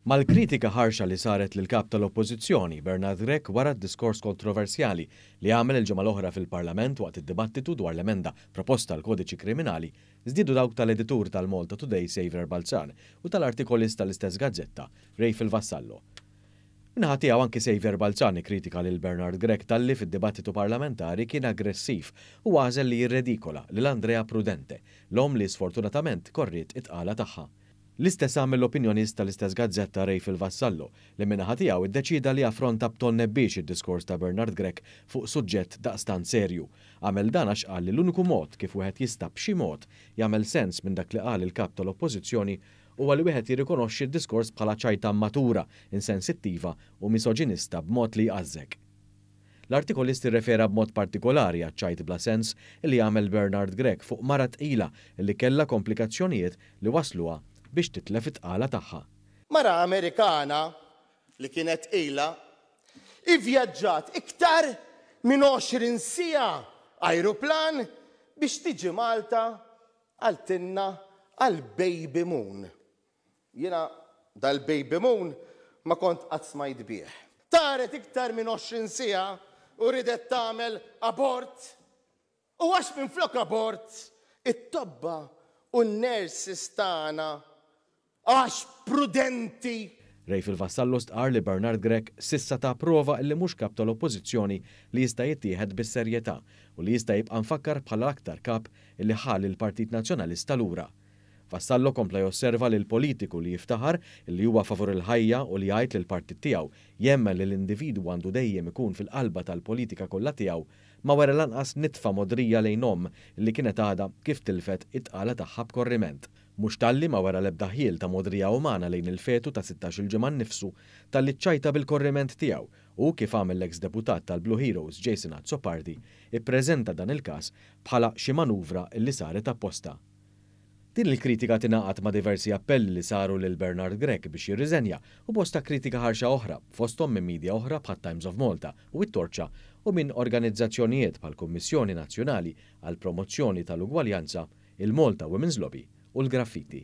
Mal-kritika ħarxa li saret lill-Kap tal-Oppożizzjoni, Bernard Grech wara d-diskors kontroversjali li għamel il-ġimgħa l-oħra fil-Parlament waqt id-dibattitu dwar l-emenda proposta għall-Kodiċi Kriminali, żdiedu dawk tal-editur tal-Malta Today Saviour Balzan u tal-artikolist tal-istess gazzetta, Rayfel Vassallo. Min-naħa tiegħu anki Saviour Balzan ikkritika lil Bernard Grech talli fid-dibattitu parlamentari kien aggressiv u għażel li jirredikola lil Andrea Prudente, l-omm li sfortunatament korriet it-tqala tagħha. L-istess għamel l-opinjonist tal-istess gazzetta Rayfel Vassallo, li min-naħa tiegħu ddeċieda li jaffronta b'ton nebbiex id-diskors ta' Bernard Grech fuq suġġett daqstant serju. Għamel dan għax qal li l-uniku mod kif wieħed jista' b'xi mod jagħmel sens minn dak li qal il-Kap tal-Oppożizzjoni huwa li wieħed jirrikonoxxi d-diskors bħala ċajta mmatura, insensittiva u misoġinista b'mod li jqażżek. L-artikolist irrefera b'mod partikolari għaċ-ċajt bla sens li għamel Bernard Grech fuq mara tqila li kellha komplikazzjonijiet li wassluha biex titlef it-tqala tagħha. Mara Amerikana li kienet tqila ivvjaġġat iktar minn 20 siegħa ajruplan biex tiġi Malta qaltilna għall-baby moon. Jiena dal-baby moon ma kont qatt smajt bih. Taret iktar minn 20 siegħa u riedet tagħmel abort. U għax minflok abort, it-tobba u n-nurses tagħna għax prudenti. Rayfil Vassallo stqarr li Bernard Grech s'issa ta prova illi mhux Kap tal-Oppożizzjoni li jista' jittieħed bis-serjetà u li jista' jibqa' mfakkar bħala l-aktar Kap illi ħa lill-Partit Nazzjonalista lura. Vassallo kompla josserva li l-politiku li jiftaħar li huwa favur il-ħajja u li jgħid li l-partit tiegħu jemmen li l-individwu għandu dejjem ikun fil-qalba tal-politika kollha tiegħu ma wera lanqas nitfa mogħdrija lejn omm li kienet għadha kif tilfet it-tqala tagħha b'korriment. Mhux talli ma wera l-ebda ħjiel ta' mogħdrija umana lejn il-fetu ta' 16-il ġimgħa nnifsu, talli ċċajta bil-korriment tiegħu u, kif għamel l-eks deputat tal-Blue Heroes Jason Azzopardi, ippreżenta dan il-każ bħala xi manuvra li saret apposta. Din il-kritika tingħaqad ma' diversi appelli li saru lil Bernard Grech biex jirriżenja u bosta kritika ħarxa oħra, fosthom minn media oħra bħat-Times of Malta u it-Torċa u minn organizzazzjonijiet bħall-Kummissjoni Nazzjonali għall-Promozzjoni tal-Ugwaljanza, il-Malta Women's Lobby u l-Graffiti.